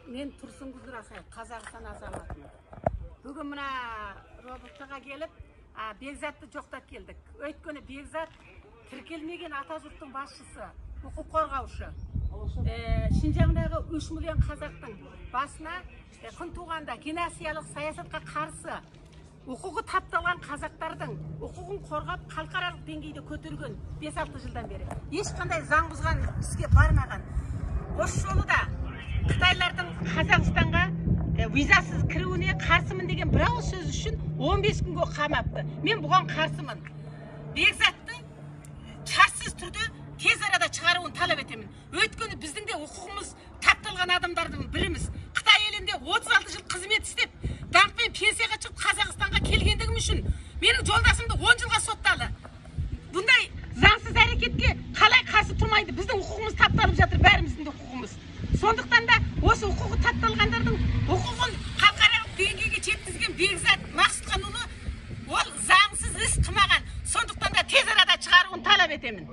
Мен Турсун Кудурасай, Казакстан азаматымын. Бүгін мына роботтага келіп, Бекзатты жоқтап келдік. Өйткені Бекзат тіркелмеген ата жұрттың басшысы, құқық қорғаушы. Шинжаңдағы 3 миллион қазақтың басына күн туғанда геноциялық саясатқа қарсы құқығы тапталған қазақтардың құқығын қорғап халықаралық деңгейде көтерген 5-6 жылдан бері ешқандай заң бұзған іске бармаған. Осы жолы да Қытайлардың Қазақстанға визасыз кіруіне қарсымын деген бір ауыз сөз үшін 15 күнге қамапты. Мен бұған қарсымын. Бекзатты шартсыз түрде тез арада шығаруын талап етемін. Өйткені біздің де құқығымыз тапталған адамдардың біріміз. Қытай елінде 36 жыл қызмет істеп, даңқпен пенсияға шығып Қазақстанға келгендігім үшін менің жолдасымды 10 жылға соттады. Бұндай заңсыз әрекетке қалай қарсы тұрмайды? Біздің құқығымыз тапталып жатыр, бәріміздің де құқығымыз. Сондықтан да осы құқығы тапталғандардың құқығын халықаралық деңгейге жеткізген Бекзат Мақсұтханұлы ол заңсыз іс қылмаған. Сондықтан да тез арада шығаруын талап етемін.